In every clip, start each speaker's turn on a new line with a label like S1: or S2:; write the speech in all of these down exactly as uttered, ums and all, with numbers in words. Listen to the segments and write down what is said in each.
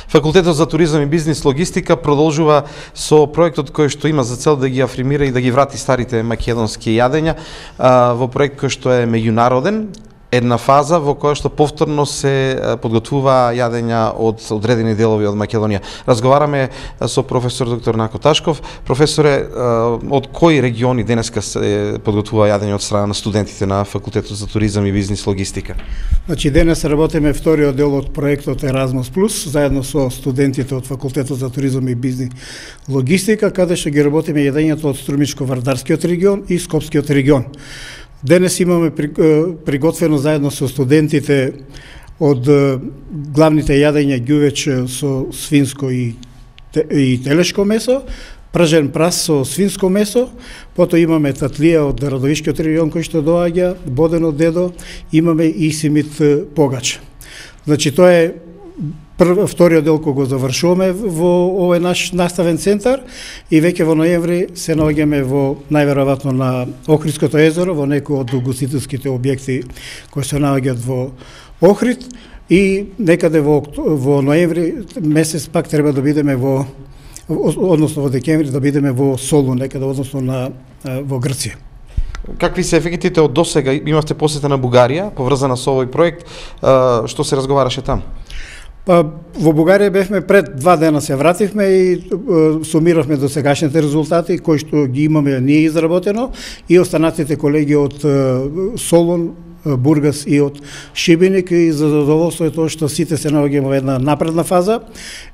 S1: Факултетот за туризам и бизнис логистика продолжува со проектот кој што има за цел да ги афирмира и да ги врати старите македонски јадења во проект кој што е меѓународен, една фаза во која што повторно се подготвува јадења од одредени делови од Македонија. Разговараме со професор доктор Нако Ташков. Професоре, од кои региони денеска се подготвува јадење од страна на студентите на Факултетот за туризам и бизнис логистика?
S2: Значи денес работиме вториот дел од проектот Еразмус плюс заедно со студентите од Факултетот за туризам и бизнис логистика, каде што ги работиме јадењето од Струмичко-Вардарскиот регион и Скопскиот регион. Денес имаме приготвено заедно со студентите од главните јадења ѓувеч со свинско и, и телешко месо, пржен прас со свинско месо, потоа имаме татлија од Радовишкиот регион кој што доаѓа, боден од дедо, имаме и симит погач. Значи тоа е Прв, вториот дел кој го завршуваме во овој наш наставен центар и веќе во ноември се наоѓаме во најверојатно на Охридското езеро, во некој од угостителските објекти кои се наоѓаат во Охрид и некаде во, во ноември месец пак треба да бидеме во, односно во декември да бидеме во Солун, некаде односно на во Грција.
S1: Какви се ефектите од досега? Имавте посета на Бугарија, поврзана со овој проект, што се разговараше там?
S2: Па, во Бугарија бевме пред два дена се вративме и е, сумиравме до сегашните резултати кои што ги имаме ние изработено и останатите колеги од е, Солун, Бургас и од Шибеник и за задоволство е тоа што сите се наоѓаме во една напредна фаза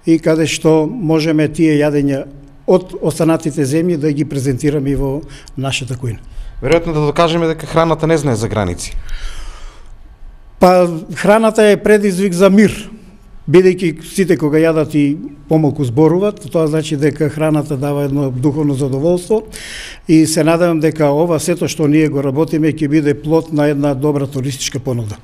S2: и каде што можеме тие јадења од останатите земји да ги презентираме и во нашата кујна.
S1: Веројатно да докажеме дека храната не знае за граници.
S2: Па храната е предизвик за мир. Бидејќи сите кога јадат и помалку зборуваат, тоа значи дека храната дава едно духовно задоволство и се надевам дека ова сето што ние го работиме ќе биде плод на една добра туристичка понуда.